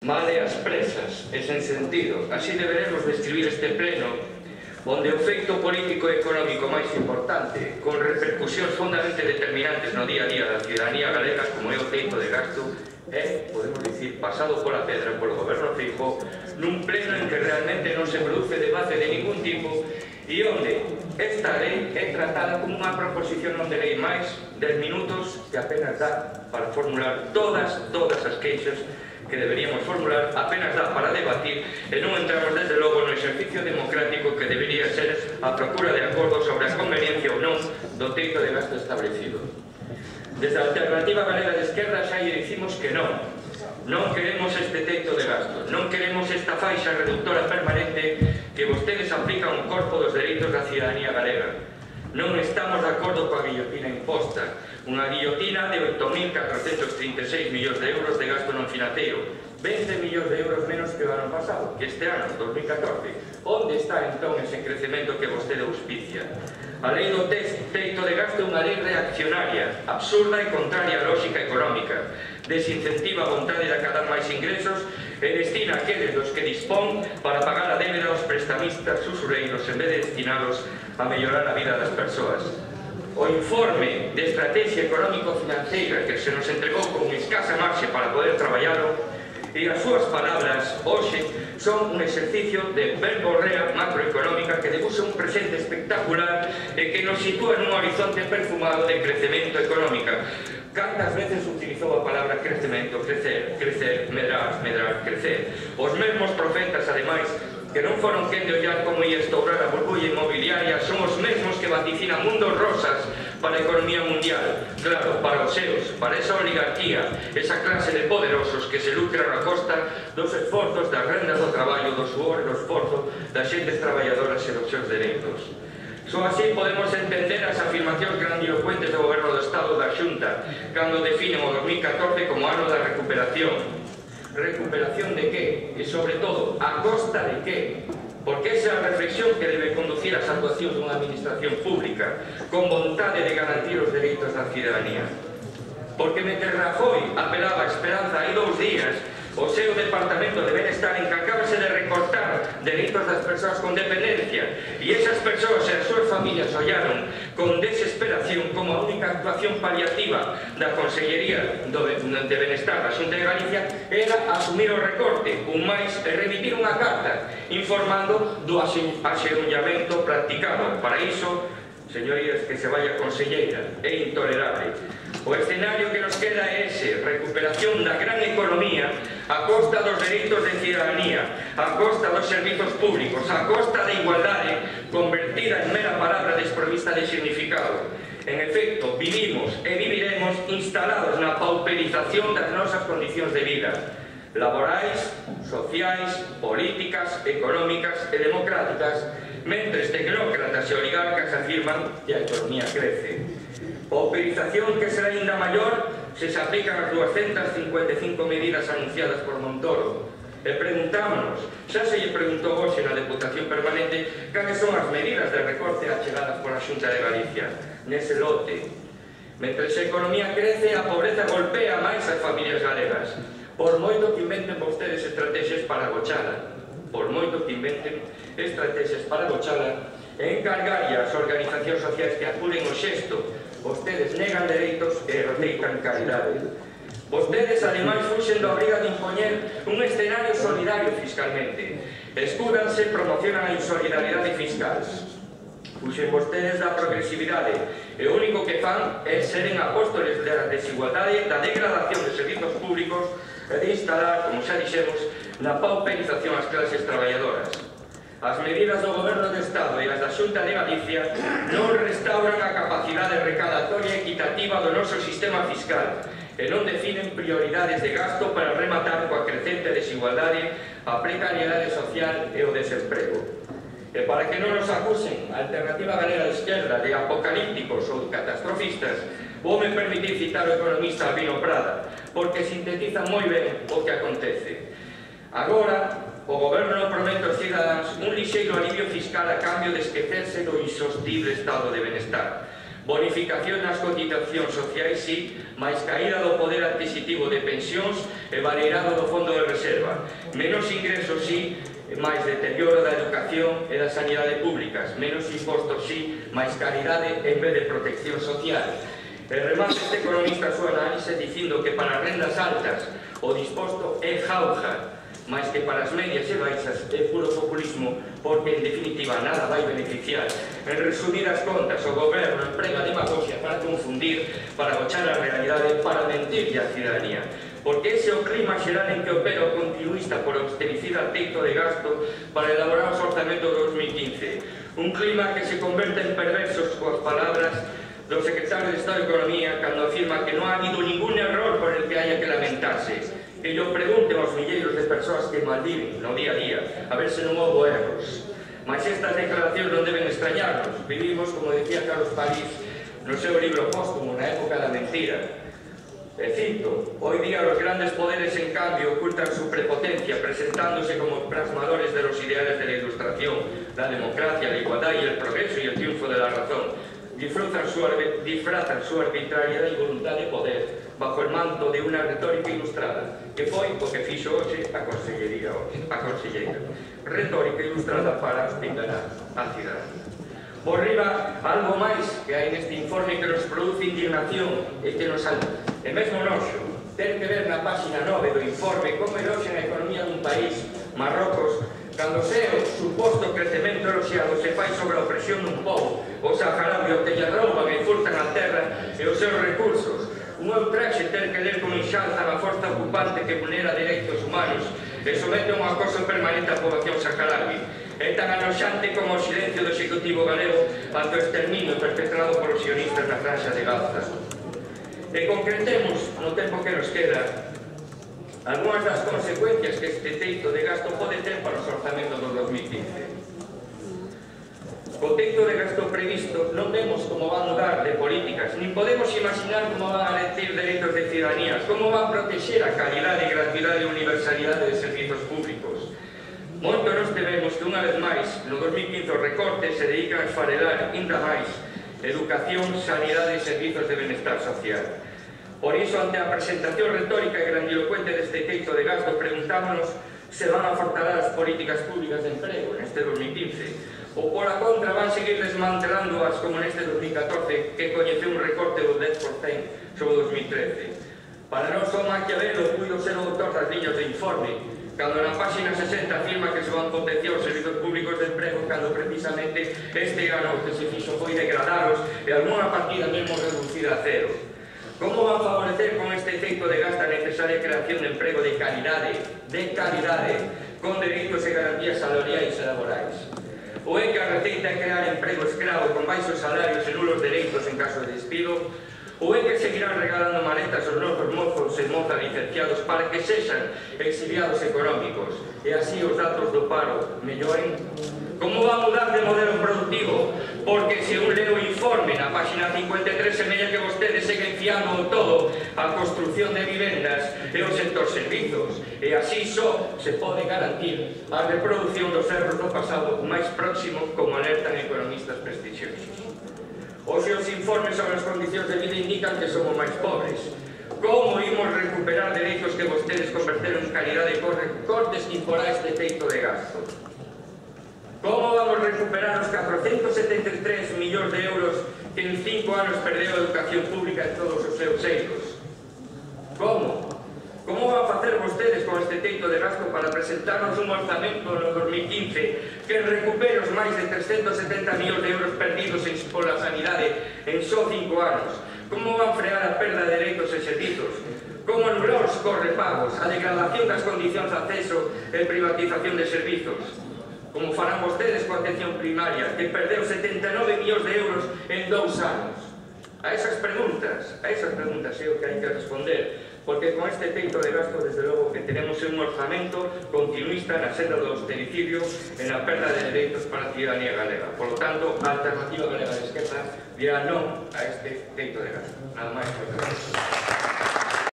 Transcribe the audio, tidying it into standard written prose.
Male as presas e sen sentido. Así deberemos describir este pleno, onde o feito político e económico máis importante, con repercusións fundamentalmente determinantes no día a día da ciudadanía galega, como é o teito de gasto, é, podemos dicir, pasado pola pedra polo goberno Feijóo, nun pleno en que realmente non se produce debate de ningún tipo e onde esta lei é tratada como unha proposición non de lei máis 10 minutos que apenas dá para formular todas as queixas que deberíamos formular, apenas dá para debatir e non entramos desde logo no exercicio democrático que debería ser a procura de acordo sobre a conveniencia ou non do teito de gasto establecido. Desde a Alternativa Galega de Esquerda xa lle dicimos que non queremos este teito de gasto, non queremos esta faixa reductora permanente que vostedes aplican ao corpo dos dereitos da ciudadanía galega. Non estamos de acordo coa guillotina imposta, unha guillotina de 8.436 millóns de euros de gasto non financeiro, 20 millóns de euros menos que o ano pasado, que este ano, 2014. Onde está entón ese crecemento que vostede auspicia? A lei do teito de gasto é unha lei reaccionaria, absurda e contraria á lógica económica, desincentiva a vontade de acadar máis ingresos e destina aqueles dos que dispón para pagar a débeda aos prestamistas usureiros en vez de destinalos a mellorar a vida das persoas. O informe de estrategia económico-financeira que se nos entregou con escasa marxe para poder traballalo e as súas palabras hoxe son un exercicio de verborrea macroeconómica que debuxa un presente espectacular e que nos sitúa nun horizonte perfumado de crecemento económica. Cantas veces utilizou a palabra crecemento, crecer, crecer, medrar, medrar, crecer. Os mesmos profetas, ademais, que non foron quen de ollar como ia estourar a burbulla inmobiliaria, son os mesmos que vaticinan mundos rosas para a economía mundial. Claro, para os seus, para esa oligarquía, esa clase de poderosos que se lucran a costa dos esforzos, das rendas do traballo, do suor e do esforzo das xentes traballadoras e dos seus dereitos. Só así podemos entender as afirmacións grandilocuentes do Goberno do Estado da Xunta cando definen o 2014 como ano da recuperación. Recuperación de que? E sobre todo, a costa de que? Porque esa é a reflexión que debe conducir as actuacións dunha administración pública con vontade de garantir os dereitos da ciudadanía. Porque mentre Rajoy apelaba a esperanza hai 2 días, o seu Departamento de Benestar encargábase de recortar dereitos das persoas con dependencia e esas persoas e as súas familias ollaron con desesperación como a única actuación paliativa da Consellería de Benestar da Xunta de Galicia era asumir o recorte, un máis e remitir unha carta informando do axeonllamento practicado. Para iso, señorías, que se vaya conselleira, é intolerable. O escenario que nos queda é ese, recuperación da gran economía a costa dos dereitos de ciudadanía, a costa dos servizos públicos, a costa da igualdade convertida en mera palabra desprovista de significado. En efecto, vivimos e viviremos instalados na pauperización das nosas condicións de vida, laborais, sociais, políticas, económicas e democráticas, mentres tecnócratas e oligarcas afirman que a economía crece. Pauperización que será ainda maior se se aplican as 255 medidas anunciadas por Montoro. E preguntámonos, xa se lle preguntou hoxe na Deputación Permanente cales son as medidas de recorte achegadas pola Xunta de Galicia nese lote. Mentres a economía crece, a pobreza golpea máis as familias galegas. Por moito que inventen vostedes estrategias para agochala, por moito que inventen estrategias para agochala, e encargarlle ás organizacións sociais que apuren o xesto, vostedes negan dereitos e roteitan calidade. Vostedes, ademais, fuxen da obriga de impoñer un escenario solidario fiscalmente. Escúdanse, promocionan a insolidaridade fiscal. Fuxen vostedes da progresividade e o único que fan é seren apóstoles da desigualdade, da degradación de servizos públicos e de instalar, como xa dixemos, na pauperización ás clases traballadoras. As medidas do Goberno do Estado e as da Xunta de Galicia non restauran a capacidade recadatoria equitativa do noso sistema fiscal e non definen prioridades de gasto para rematar coa crecente desigualdade, a precariedade social e o desemprego. E para que non nos acusen a Alternativa Galega de Esquerda de apocalípticos ou catastrofistas, voume permitir citar o economista Albino Prada, porque sintetiza moi ben o que acontece. Agora, o Goberno promete aos cidadáns un lixeiro alivio fiscal a cambio de esquecerse do insostible estado de benestar. Bonificación nas cotizacións sociais, sí, máis caída do poder adquisitivo de pensións e baleirado do fondo de reserva. Menos ingresos, sí, máis deterioro da educación e da sanidade públicas. Menos impostos, sí, máis caridade en vez de protección social. E remate este economista a súa análise dicindo que para as rendas altas o disposto é jauja, máis que para as medias e baixas é puro populismo, porque en definitiva nada vai beneficiar. En resumidas contas, o goberno emprega demagogia para confundir, para agochar a realidade, para mentirlle á ciudadanía. Porque ese é o clima xeral en que opera o continuista por austericida teito de gasto para elaborar os orzamentos de 2015. Un clima que se converte en perversos coas palabras do secretario de Estado de Economía cando afirma que non ha habido ningún error por el que haya que lamentarse. Que yo pregunten aos milleiros de persoas que malviven no día a día a ver se non houve erros. Mas estas declaracións non deben extrañarnos. Vivimos, como decía Carlos París no seu libro póstumo, na época da mentira. E cito, hoy día los grandes poderes en cambio ocultan su prepotencia presentándose como plasmadores de los ideales de la ilustración, la democracia, la igualdad y el progreso y el triunfo de la razón. Disfrazan su arbitrariedad y voluntad de poder bajo el manto de una retórica ilustrada, que foi o que fixo hoxe a conselleira. Retórica ilustrada para enganar a ciudadanía. Por riba, algo máis que hai neste informe que nos produce indignación e que nos e mesmo noxo, ter que ver na página 9 do informe como eroxe na economía dun país, Marrocos, cando o seu suposto crecemento eloxiado se fai sobre a opresión dun pobo, o saharaui ao que lle rouban e furtan a terra e os seus recursos. Un ultraxe ter que ler como enxalzan a forza ocupante que vulnera dereitos humanos e somete un acoso permanente á poboación saharaui. É tan anoxante como o silencio do Executivo galego ante o exterminio perpetrado polos sionistas na franja de Gaza. E concretemos, no tempo que nos queda, algunhas das consecuencias que este teito de gasto pode ter para os orzamentos do 2015. O teito de gasto previsto non vemos como van mudar de políticas, nin podemos imaginar como van a garantir dereitos de ciudadanía, como van protexer a calidade, gratuidade e universalidade de servizos públicos. Moito nos tememos que unha vez máis, no 2015 os recortes se dedican a esfarelar ainda máis educación, sanidade e servizos de benestar social. Por iso, ante a presentación retórica e grandilocuente deste teito de gasto, preguntámonos se van a fortalar as políticas públicas de emprego neste 2015 ou, pola contra, van seguir desmantelándoas como neste 2014 que coñeceu un recorte do 10% sobre 2013. Para nós, o Maquiavelo puido ser o autor das liñas de informe cando na página 60 afirma que se van potenciar os servizos públicos de emprego cando precisamente este ano que se fixo foi degradaros e algunha partida mesmo reducida a cero. Como van favorecer con este teito de gasto a necesaria creación de emprego de calidade, con dereitos e garantías salariais e laborais? Ou é que a receita é crear emprego escravo con baixos salarios e nulos dereitos en caso de despido? Ou é que seguirán regalando maletas aos novos mozos e mozas licenciados para que sexan exiliados económicos e así os datos do paro melloren? Como va a mudar de modelo productivo? Porque se un leo o informe na página 53 semella que vostedes seguen fiando todo a construción de vivendas e o sector servizos e así só se pode garantir a reproducción dos erros do pasado máis próximo como alertan economistas prestixiosos. Hoxe os informes sobre as condicións de vida indican que somos máis pobres. Como imos recuperar dereitos que vostedes converteron en calidade con recortes que imporá este teito de gasto? Como vamos recuperar os 473 millóns de euros que en 5 anos perdeu a educación pública en todos os seus eidos? Como? Como van facer vostedes con este teito de gasto para presentarnos un orzamento no 2015 que recupere os máis de 370 millóns de euros perdidos pola sanidade en só 5 anos? Como van frear a perda de dereitos e servizos? Como anular os correpagos, a degradación das condicións de acceso e privatización de servizos? Como farán vostedes coa atención primaria, que perdeu 79 millóns de euros en 2 anos? A esas preguntas é o que hai que responder, porque con este teito de gasto, desde logo, que tenemos un orzamento continuista na senda do austericidio e na perda de dereitos para a ciudadanía galega. Por lo tanto, a Alternativa Galega de Esquerda dirá non a este teito de gasto. Nada máis, moitas gracias.